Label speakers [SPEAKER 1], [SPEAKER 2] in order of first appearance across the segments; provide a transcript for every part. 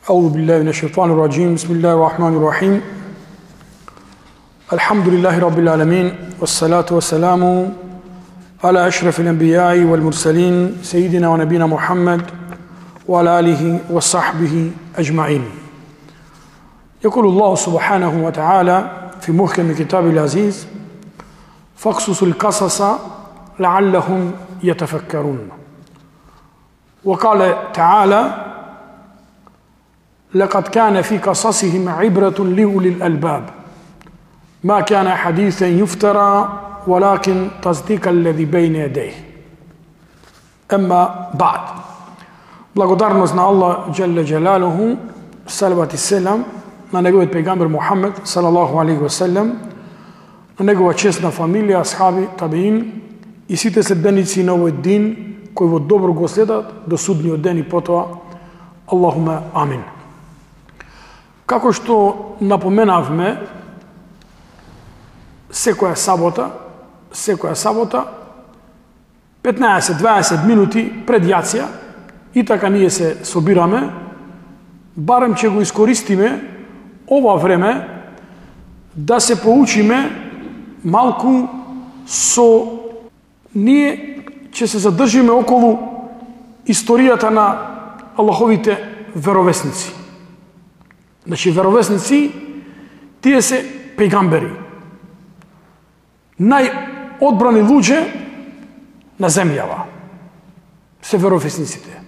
[SPEAKER 1] أعوذ بالله من الشيطان الرجيم بسم الله الرحمن الرحيم الحمد لله رب العالمين والصلاة والسلام على أشرف الأنبياء والمرسلين سيدنا ونبينا محمد وعلى آله وصحبه أجمعين. يقول الله سبحانه وتعالى في محكم كتابه العزيز فاقصص القصص لعلهم يتفكرون. وقال تعالى لقد كان في قصصهم عبرة لأولي الألباب ما كان حديثا يفترى ولكن تصديق الذي بين يديه. أما بعد. Благодарност на Аллах Джелле Джелалуху, салават и селам на неговиот пејгамбер Мухаммед салаллаху алейхи ва селем, на негова честна фамилија, асхаби, табиин и сите следбеници на овој дин кои во добро го следат до судниот ден и потоа. Аллахуме амин. Како што напоменавме, секоја сабота 15-20 минути пред јација и така ние се собираме, барем ќе го искористиме ова време да се поучиме малку со ние ќе се задржиме околу историјата на Аллаховите веровесници. Значи, веровесници, тие се пејгамбери. Најодбрани луѓе на земјава се веровесниците.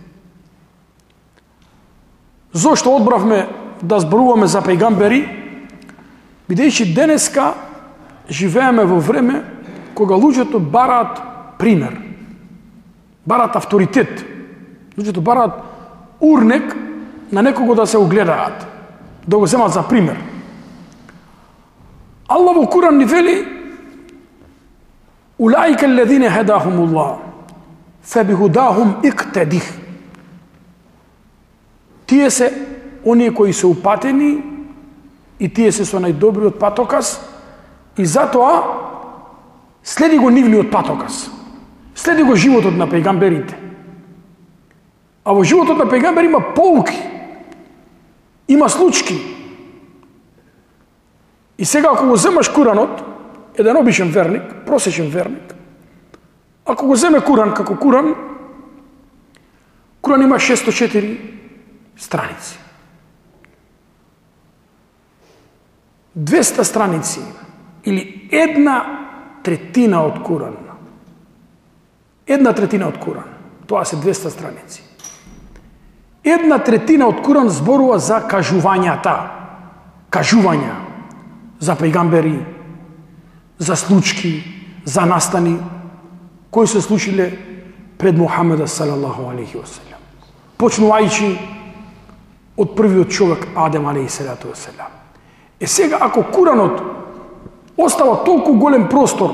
[SPEAKER 1] Зошто одбравме да зборуваме за пејгамбери? Бидејќи денеска живееме во време кога луѓето бараат пример, бараат авторитет, луѓето бараат урнек на некого да се огледаат, да го земат за пример. Аллах во Куран ни вели: улаика аллазина хадахумуллах фабихудахум иктадих. Тие се оние кои се упатени и тие се со најдобриот патоказ и затоа следи го нивниот патоказ. Следи го животот на пејгамберите. А во животот на пејгамбер има поуки, има случки. И сега ако го земаш Куранот, еден обичен верник, просечен верник, ако го земе Куран како Куран, Куран има 604 страници. 200 страници или една третина од Куран, тоа се 200 страници. Една третина од Куран зборува за кажувања за пејгамбери, за случки, за настани кои се случиле пред Мухамеда салаллаху алейхи ва селем. Почнувајќи од првиот човек Адем алейхи салату ва селем. Сега ако Куранот остава толку голем простор,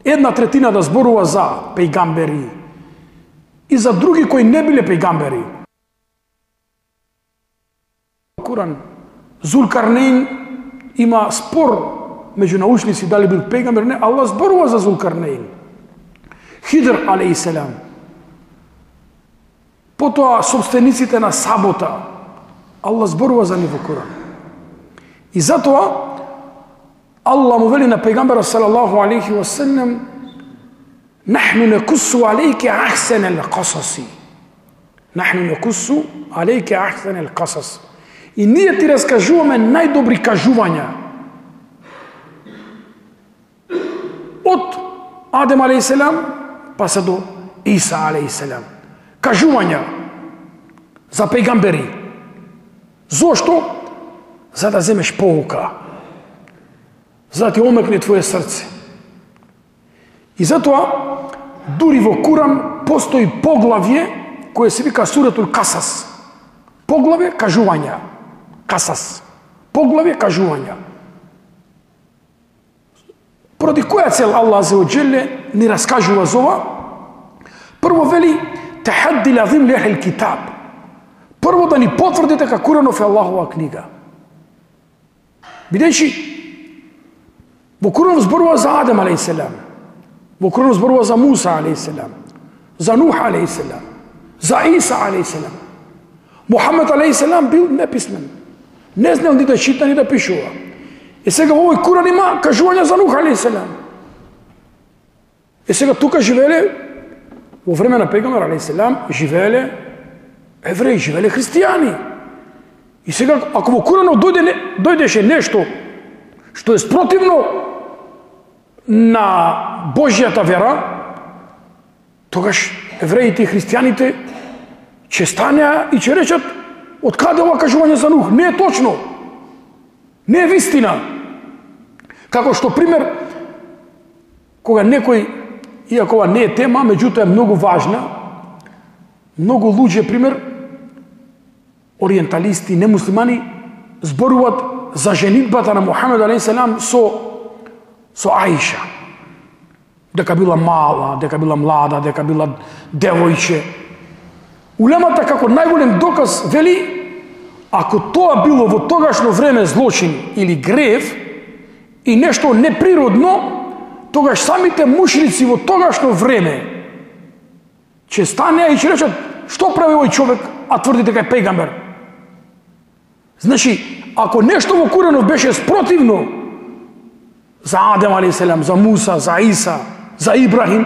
[SPEAKER 1] една третина да зборува за пејгамбери и за други кои не биле пејгамбери. Куран, Зулкарнейн има спор меѓу научници дали бил пејгамбер, не, Аллах зборува за Зулкарнейн. Хидр алейхи селам. Потоа собствениците на сабота, Аллах зборува за нив во Куран. И затоа Аллах му вели на пејгамберот салаллаху алейхи ва селем: нахну накуссу алейке ахсанал қасаси. Нахну накуссу алейке ахсанал қасас. И ние ти раскажуваме најдобри кажувања. Од Адем алейхи селам па се до Иса алейхи селам. Кажувања за пејгамбери. Зошто? За да земеш поука. За да ти омекне твое срце. И затоа, дури во Куран постои поглавје кое се вика Суратул Касас. Поглавје кажувања. Касас. Поглавје кажувања. Поради која цел Аллах азza ва џелле ни раскажува за ова? Прво вели: тахадди лазим ли ахл китаб. Прво да ни потврди дека Куранов е Аллахова книга. Бидејќи во Куранов зборува за Адем алейхи селам, во Куранов зборува за Муса алейхи селам, за Нух алейхи селам, за Иса алейхи селам. Мухамед алейхи бил неписмен. Не знал ни да чита, ни да пишува. И сега во овој Куран има кажување за Нух алейхи. И сега тука живееле, во време на пегамбер алейхи живееле евреи, живееле христијани. И сега, ако во Куранот дојдеше нешто што е спротивно на Божјата вера, тогаш евреите и христијаните ќе станеа и ќе речат: од каде ова кажување за Нух? Не е точно. Не е вистина. Како што пример, кога некој, иако ова не е тема, меѓутоа е многу важна, многу луѓе, пример, ориенталисти, немуслимани, зборуваат за женитбата на Мухамед алейхи со Аиша. Дека била мала, дека била млада, дека била девојче. Улемата како најголем доказ вели, ако тоа било во тогашно време злочин или грев и нешто неприродно, тогаш самите мушрици во тогашно време ќе станеа и ќе речат: што прави овој човек, а тврди дека е пегамбер? Значи, ако нешто во Куранот беше спротивно за Адем алейхи, за Муса, за Иса, за Ибрахим,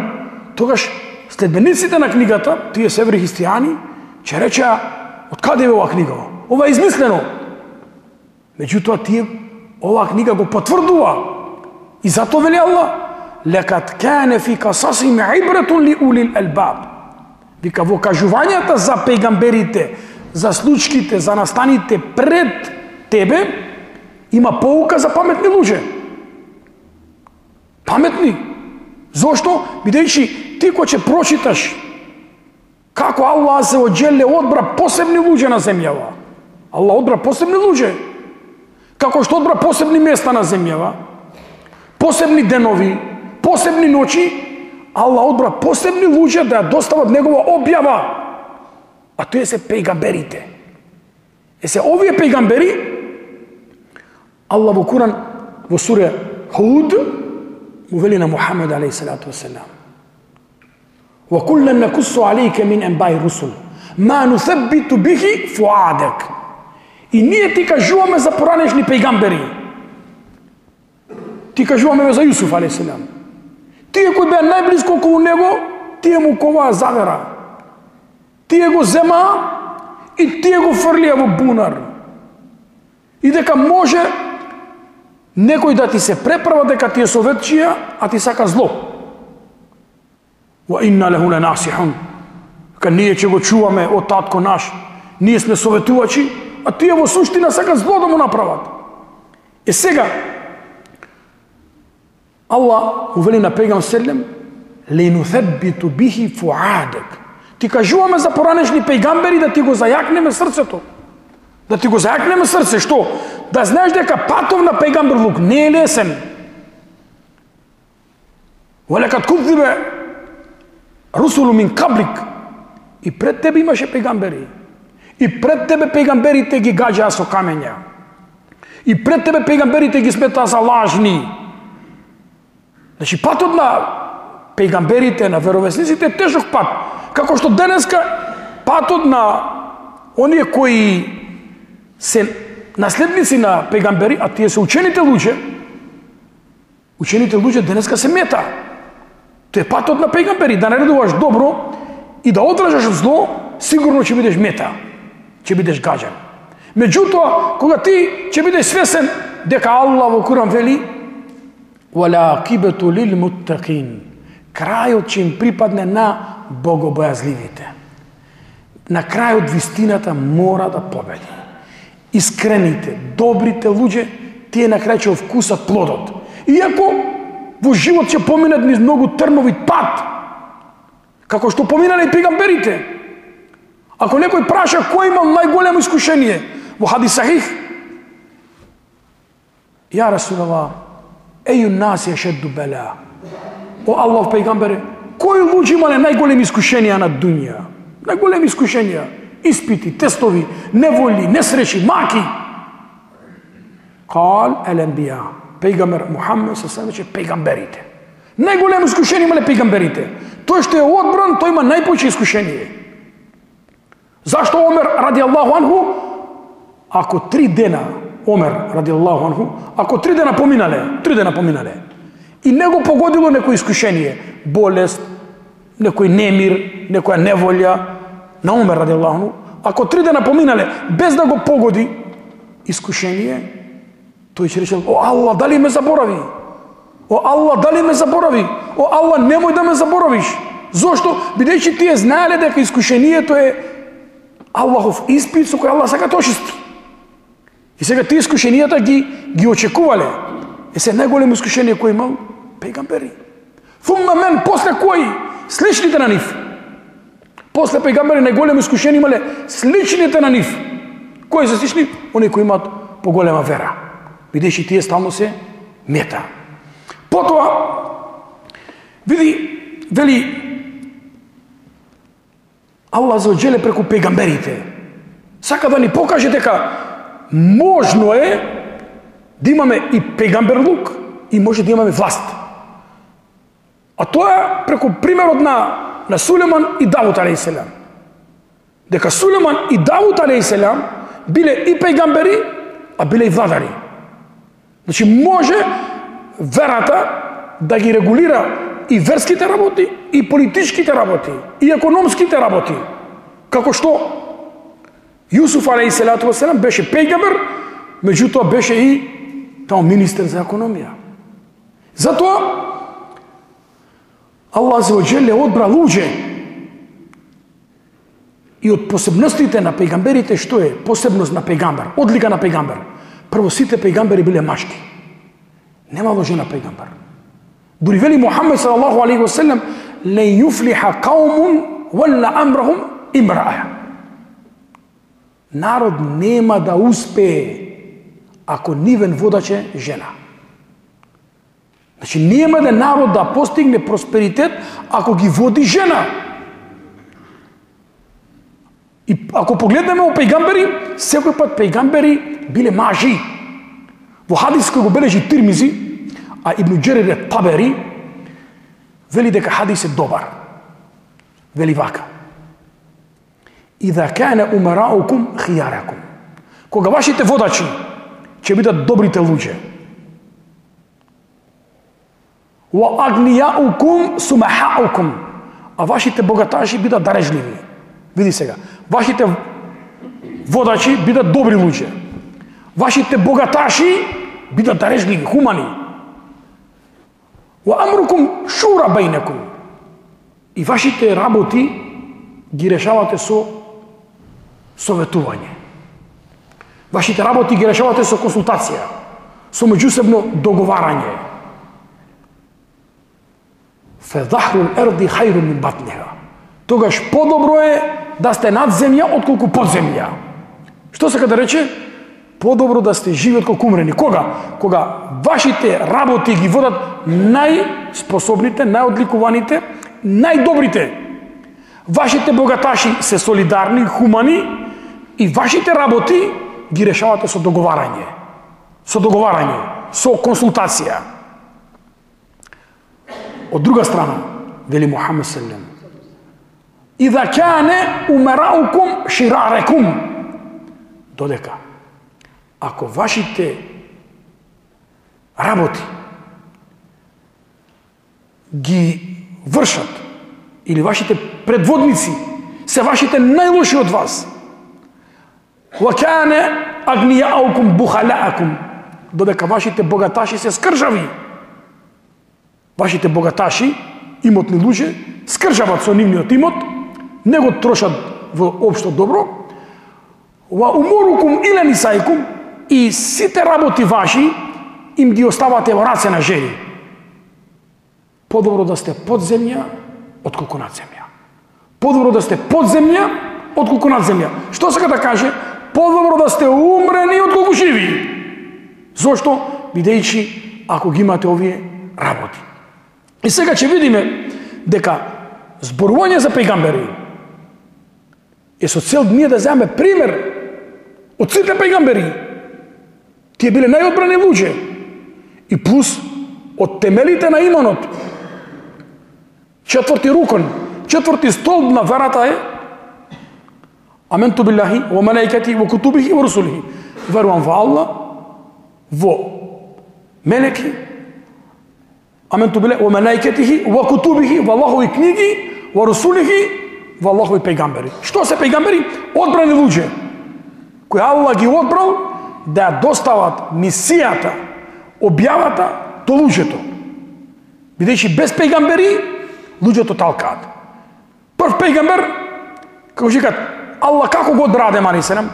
[SPEAKER 1] тогаш следбениците на книгата, тие севри христијани, ќе речеа: од каде е ова книга? Ова е измислено. Меѓутоа тие оваа книга го потврдува. И затоа вели Аллах: лекад кане фи касасим ибратун ли улил албаб. Вика, во кажувањата за пегамберите, за случките, за настаните пред тебе, има поука за паметни луѓе. Паметни. Зошто? Бидејќи ти кој ќе прочиташ како Аллах се оџеле одбра посебни луѓе на земјава. Аллах одбра посебни луѓе. Како што одбра посебни места на земјава, посебни денови, посебни ноќи, Аллах одбра посебни луѓе да ја достават негова објава. А тие се пегамберите. Се овие пегамбери, Аллах во Куран, во сура Худ, му вели на Мухамед алейхи салату вассалам: وَكُلًّا نَقُصُّ عَلَيْكَ مِنْ أَنْبَاءِ الرُّسُلِ مَا نُثَبِّتُ بِهِ فُؤَادَكَ. И ние ти кажуваме за поранешни пегамбери. Ти кажуваме за Јусуф алейхи салам. Тие кои беа најблиско околу него, тие му коваа завера. Тие го зема и тие го фрлија во бунар. И дека може некој да ти се преправа дека ти е советчија, а ти сака зло. Wa inna lahu lanasihun. Ка ние ќе го чуваме од татко наш. Ние сме советувачи, а тие во суштина сака зло да му направат. И сега Аллах увели на пегамбер селем: "Ленутhabbitu bihi fuadak." Ти кажуваме за поранешни пегамбери да ти го зајакнеме срцето. Да ти го зајакнеме срце, што? Да знаеш дека патов на пегамбер Лук не е лесен. Валекат кудзибе русулу мин каблик. И пред тебе имаше пегамбери. И пред тебе пегамберите ги гаѓаа со камења. И пред тебе пегамберите ги сметаа за лажни. Значи патот на пегамберите, на веровесниците е тежок пат. Како што денеска патот на оние кои се наследници на пегамбери, а тие се учените луѓе денеска се мета. Тоа е патот на пегамбери, да наредуваш добро и да одвраќаш зло, сигурно ќе бидеш мета, ќе бидеш гаѓан. Меѓутоа, кога ти ќе бидеш свесен дека Аллах во Куран вели: "Валакибату лил муттақин", крајот ќе им припадне на богобојазливите. На крајот вистината мора да победи. Искрените, добрите луѓе, тие на крај ќе вкусат плодот. Иако во живот ќе поминат низ многу трновит пат, како што поминале и пегамберите. Ако некој праша кој имал најголемо искушение, во хадис сахих: "Ја Расулаллах, еју наси ешедду бела." О Аллах пегамбере, кои луѓе имале најголеми искушенија на дуња? Најголеми искушенија, испити, тестови, неволи, несреќи, маки. Кал ел-анбија, пегамбер Мухамед се севече пегамберите. Најголемо искушение имале пегамберите. Тој што е одбран, тој има најповеќе искушение. Зашто Омер радијаллаху анху, ако 3 дена, Омер радијаллаху анху, ако 3 дена поминале, и не го погодило некој искушение, болест, некој немир, некоја неволја, на Омер радијаллаху анху, ако 3 дена поминале, без да го погоди искушение, тој ќе рече: о Аллах, дали ме заборави? О Аллах, дали ме заборави? О Аллах, немој да ме заборавиш. Зошто? Бидејќи тие знаеле дека искушението е Аллахов испит со кој Аллах сака да очисти. И сега тие искушенијата ги очекувале. Е се најголемо искушение кој имал пејгамбери. Фумма мен, после кои? Сличните на нив. После пејгамбери најголемо искушение имале сличните на нив. Кои се слични? Они кои имаат поголема вера. Бидејќи тие стално се мета. Потоа, види, вели Аллах за оџеле преку пејгамберите. Сака да ни покаже дека можно е да имаме и пејгамберлук и може да имаме власт. А тоа е преку примерот на Сулеман и Давуд алейхиселам. Дека Сулеман и Давуд алейхиселам биле и пејгамбери, а биле и владари. Значи може верата да ги регулира и верските работи, и политичките работи, и економските работи. Како што Јусуф алейхиселату васелам беше пејгамбер, меѓутоа беше и тамо министер за економија. Затоа Аллах за оџеле одбра луѓе. И од посебностите на пејгамберите што е посебност на пејгамбер, одлика на пејгамбер? Прво, сите пејгамбери биле машки. Немало жена пејгамбер. Дури вели Мухамед салаллаху алейхи ва саллям: "Лен юфлиха каумун валла амрахум имраа." Народ нема да успее ако нивен водач е жена. Значи нема да народ да постигне просперитет ако ги води жена. И ако погледнеме о пејгамбери, секој пат пејгамбери биле мажи. Во хадис кој го бележи Тирмизи, а Ибн Џерир Табери вели дека хадис е добар. Вели вака: "Иза кана умараукум хияракум." Кога вашите водачи ќе бидат добрите луѓе. "Ва агнијаукум сумахаукум." А вашите богаташи бидат дарежливи. Види сега, вашите водачи бидат добри луѓе. Вашите богаташи бидат дарежливи, хумани. Ва амрукум шура бајнекум. И вашите работи ги решавате со советување. Вашите работи ги решавате со консултација, со меѓусебно договарање. Фезахрул ерди хајрун мин батниха. Тогаш подобро е да сте над земја отколку под земја. Што сака да рече? Подобро да сте живи отколку умрени. Кога? Кога вашите работи ги водат најспособните, најодликуваните, најдобрите. Вашите богаташи се солидарни, хумани и вашите работи ги решавате со договарање. Со договарање, со консултација. Од друга страна, вели Мухамед саллем: "Иза кане умараукум ширарекум." Додека ако вашите работи ги вршат или вашите предводници се вашите најлоши од вас, "Ва кане агнијаукум бухалаакум." Додека вашите богаташи се скржави. Вашите богаташи, имотни луѓе, скржават со нивниот имот, не го трошат во општо добро. "Ва умурукум иле нисаикум." И сите работи ваши им ги оставате во раце на жени. Подобро да сте под земја отколку над земја. Подобро да сте под земја отколку над земја. Што сака да каже? Подобро да сте умрени отколку живи. Зошто? Бидејќи ако ги имате овие работи. И сега ќе видиме дека зборување за пејгамбери е со цел ние да земеме пример од сите пејгамбери. Тие биле најодбрани луѓе. И плюс од темелите на иманот. Четврти рукон, четврти столб на верата е Аменtu billahi wa malaikatihi wa kutubihi wa rusulihi. Verujem во Allah, во мелеки, аменtu billahi wa malaikatihi wa kutubihi, во Аллахови книги, wa rusulihi, во Аллахови пејгамбери. Што се пејгамбери? Одбрани луѓе кои Аллах ги одбрал да достават мисијата, објавата до луѓето. Бидејќи без пејгамбери луѓето талкаат. Прв пејгамбер, како кажат, Аллах како го одбра Адем алейхиссалам?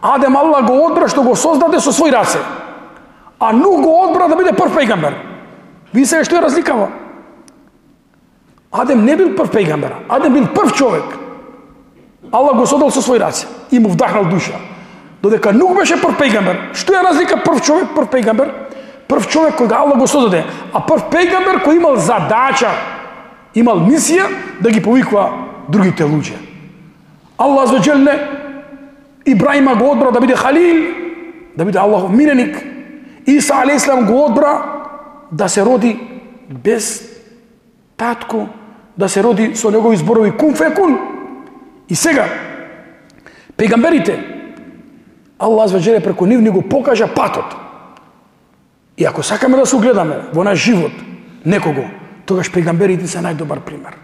[SPEAKER 1] Адем Аллах го одбра што го создаде со свој раце. А Нух го одбра да биде прв пејгамбер. Ви сега што е разликава? Адем не бил прв пејгамбер, Адем бил прв човек. Аллах го создал со свој раце и му вдахнал душа. Додека Нух беше прв пејгамбер. Што е разлика прв човек, прв пејгамбер? Прв човек кој Аллах го создаде, а прв пејгамбер кој имал задача, имал мисија да ги повикува другите луѓе. Аллах азza wa jalla Ибраима го одбра да биде халил, да биде Аллахов миленик. Иса алейхиссалам го одбра да се роди без татко, да се роди со негови зборови кун фекун. И сега пејгамберите Аллах азza wa jalla преку нив ни го покажа патот. И ако сакаме да се угледаме во наш живот некого, тогаш пејгамберите се најдобар пример.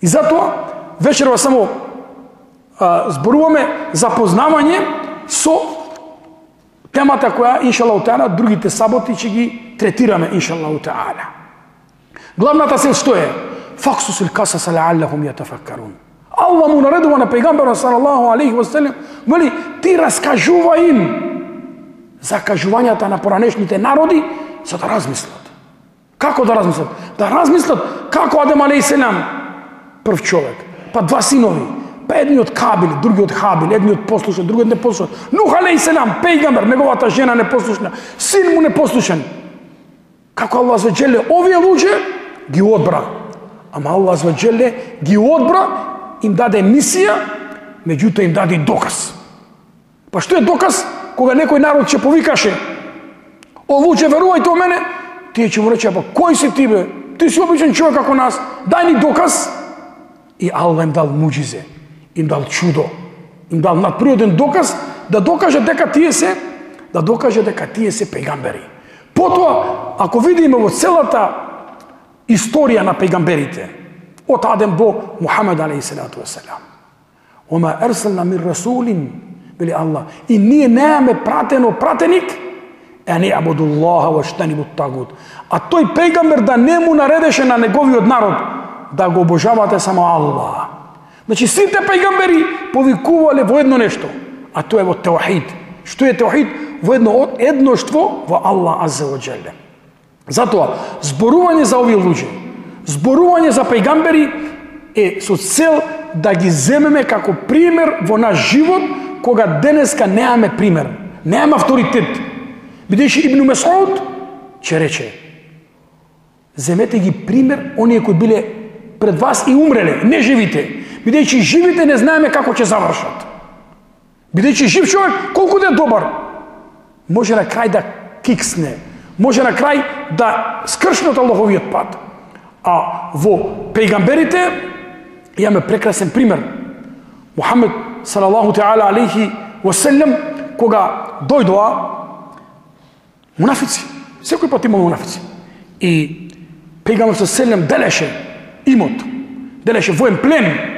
[SPEAKER 1] И затоа вечерва само зборуваме за познавање со темата која иншаллаху таала другите саботи ќе ги третираме иншаллаху таала. Главната цел што е? Факсусул касаса лааллахум јатафаккарун. Аллах му наредува на пејгамберот салаллаху алейхи ва салем, вели ти раскажувај им за кажувањата на поранешните народи за да размислат. Како да размислат? Да размислат како Адем алейхиссалам прв човек, па два синови, па едниот Кабил, другиот Хабил, едниот послушен, другиот непослушен. Нух алейхиссалам, пејгамбер, неговата жена непослушна, син му непослушен. Како Аллах азza wa jalla овие луѓе ги одбра. Ама Аллах азza wa jalla ги одбра, им даде мисија, меѓутоа им даде и доказ. Па што е доказ? Кога некој народ ќе повикаше, о луѓе, верувајте во мене, тие ќе му рече, па кој си ти бе? Ти си обичен човек како нас, дај ни доказ. И Аллах им дал муџизе, им дал чудо, им дал надприроден доказ да докаже дека тие се пејгамбери. Потоа, ако видиме во целата историја на пејгамберите, од Адем до Мухамед алейхиссалату вассалам, ома ерселна мин расулин, вели Аллах, и ние немаме пратеник, а не абудуллаха ва штанибут тагут. А тој пејгамбер да не му наредеше на неговиот народ да го обожавате само Аллах. Значи сите пејгамбери повикувале во едно нешто, а тоа е во теухид. Што е теухид? Во едноштво во Аллах азza wa jalla. Затоа зборување за овие луѓе, зборување за пејгамбери е со цел да ги земеме како пример во наш живот, кога денеска немаме пример, немаме авторитет. Бидејќи Ибн Месуд ќе рече, земете ги пример оние кои биле пред вас и умреле, не живите. Бидејќи живите не знаеме како ќе завршат. Бидејќи жив човек, колку да е добар, може на крај да киксне, може на крај да скршне од Аллаховиот пат. А во пејгамберите имаме прекрасен пример. Мухамед салаллаху таала алейхи ва салем, кога дојдоа мунафици, секој пат има мунафици. И пејгамберот салаллаху делеше имот, делеше воен плен.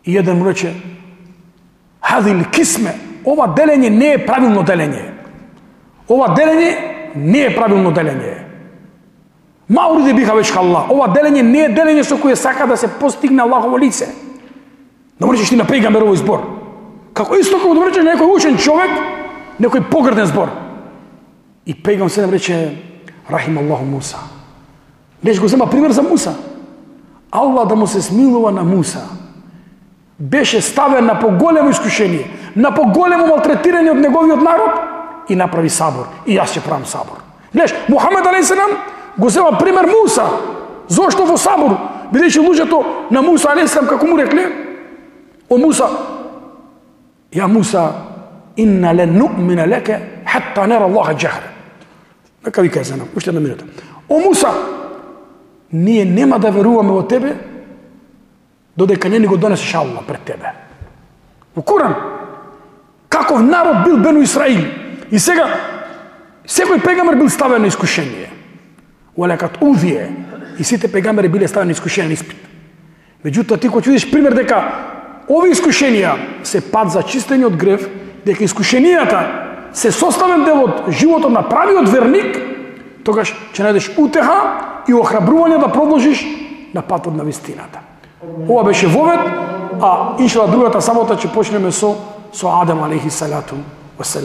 [SPEAKER 1] И еден му рече, хадил кисме, ова делење не е правилно делење. Ова делење не е правилно делење. Мауриде биха веќе Аллах. Ова делење не е делење со кое сака да се постигне Аллахово лице. Да му речеш ти на пејгамберовој збор. Како исто како да речеш некој учен човек, некој погрден збор. И пејгамбер се рече, рахим Аллаху Муса. Неш го зема пример за Муса. Аллах да му се смилува на Муса. Беше ставен на поголемо искушение, на поголемо малтретирање од неговиот народ и направи сабор. И јас ќе правам сабор. Гледаш, Мухамед алейхиссалам го зема пример Муса. Зошто во сабор? Бидејќи луѓето на Муса алейхиссалам како му рекле, о Муса, ја Муса, инна лен ну'мина лека хатта нера Аллаха џахра. Нека ви кажам, уште една минута. О Муса, ние нема да веруваме во тебе додека не ни го донесеш Аллах пред тебе. Во Куран. Каков народ бил Бену Исраил. И сега, секој пегамбер бил ставен на искушение. Олекат увие. И сите пегамбери биле ставени на искушение на испит. Меѓутоа, ти кога видиш пример дека овие искушенија се пат за чистење од грев, дека искушенијата се составен дел од животот на правиот верник, тогаш ќе најдеш утеха и охрабрување да продолжиш на патот на вистината. Ова беше вовед, а иншалла другата сабота ќе почнеме со Адем алейхи салату васелам.